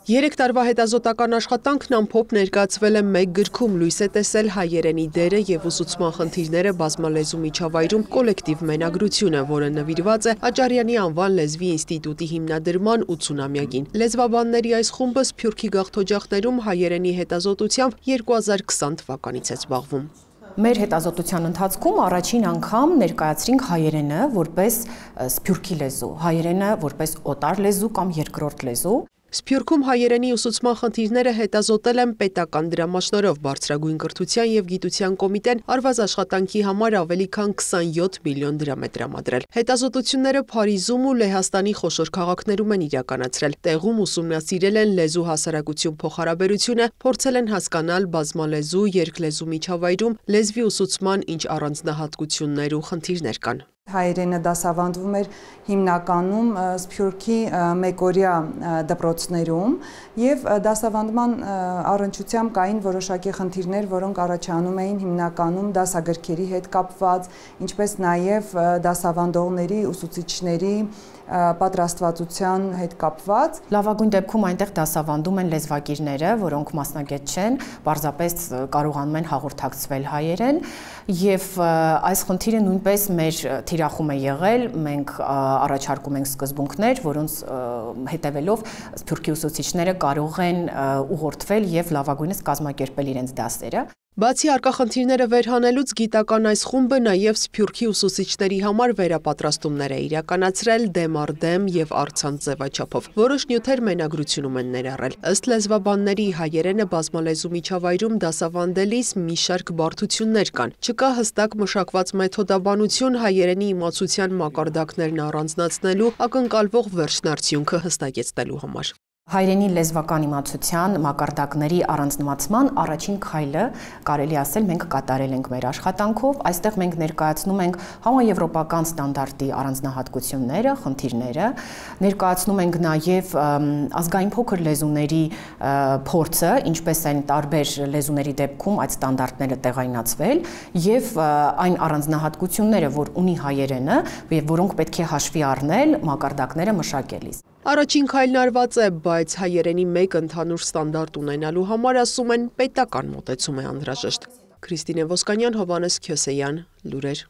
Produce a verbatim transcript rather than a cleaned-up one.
Երեք տարվա հետազոտական աշխատանքն ամփոփ ներկայացվել է մեկ գրքում, լույս է տեսել հայերենի դերը և ուսուցման խնդիրները բազմալեզու միջավայրում կոլեկտիվ մենագրությունը, որը նվիրված է Աճարյանի անվան լեզվի ինստիտուտի հիմնադրման ութսունամյակին։ Լեզվաբանների այս խումբը Սփյուռքի գաղթօջախներում հայերենի հետազոտությամբ երկու հազար քսան թվականից է զբաղվում։ Մեր հետազոտության ընթացքում առաջին անգամ ներկայացրինք հայերենը որպես սփյուռքի լեզու, հայերենը որպես օտար լեզու կամ երկրորդ լեզու։ Սփյուռքում հայերենի ուսուցման խնդիրները հետազոտել են պետական դրամաշնորհով բարձրագույն կրթության և գիտության կոմիտեն արված աշխատանքի համար ավելի քան քսանյոթ միլիոն դրամ է տրամադրել։ Հետազոտությունները Փարիզում ու Լեհաստանի խոշոր քաղաքներում են իրականացրել։ Տեղում ուսումնասիրել են լեզու հասարակություն փոխհարաբերությունը, փորձել են հասկանալ բազմալեզու, երկլեզու միջավայրում լեզվի ուսուցման ինչ առանձնահատկություններ ու խնդիրներ կան։ Հայերենը դասավանդվում էր հիմնականում Սփյուռքի մեկօրյա դպրոցներում և դասավանդման առնչությամբ կային որոշակի խնդիրներ, որոնք առաջանում էին հիմնականում դասագրքերի հետ կապված, ինչպես նաև դասավանդողների, ուսուցիչների պատրաստվածության հետ կապված։ Լավագույն դեպքում այնտեղ դասավանդում են լեզվակիրները, որոնք մասնագետ չեն, պարզապես կարողանում են հաղորդակցվել հայերեն, և այս խնդիրը նույնպես մեր թիրախում է եղել, մենք առաջարկում ենք սկզբունքներ, որոնց հետևելով սփյուռքի ուսուցիչները կարող են ուղղորդվել և լավագույնս կազմակերպել իրենց դասերը։ Բացի առկա խնդիրները վերհանելուց, գիտական այս խումբը նաև Սփյուռքի ուսուցիչների համար վերապատրաստումներ է իրականացրել դեմ առ դեմ և առցանց ձևաչափով։ Որոշ նյութեր մենագրությունում են ներառել։ Ըստ լեզվաբանների, հայերենը բազմալեզու միջավայրում դասավանդելիս մի շարք բարդություններ կան։ Չկա հստակ մշակված մեթոդաբանություն հայերենի իմացության մակարդակներն առանձնացնելու, ակնկալվող վերջնարդյունքը հստակեցնելու համար։ Հայերենի լեզվական իմացության մակարդակների առանձնացման առաջին քայլը կարելի ասել մենք կատարել ենք մեր աշխատանքով։ Այստեղ մենք ներկայացնում ենք համաեվրոպական ստանդարտի առանձնահատկությունները, խնդիրները, ներկայացնում ենք նաև ազգային փոքր լեզուների փորձը, ինչպես են տարբեր լեզուների դեպքում այդ ստանդարտները տեղայնացվել, և այն առանձնահատկությունները, որ ունի հայերենը, և որոնք պետք է հաշվի առնել մակարդակները մշակելիս։ Առաջին քայլն արված է, բայց հայերենի մեկ ընդհանուր ստանդարտ ունենալու համար, ասում են, պետական մոտեցում է անհրաժեշտ։ Քրիստինե Ոսկանյան, Հովհաննես Քյոսեյան, լուրեր։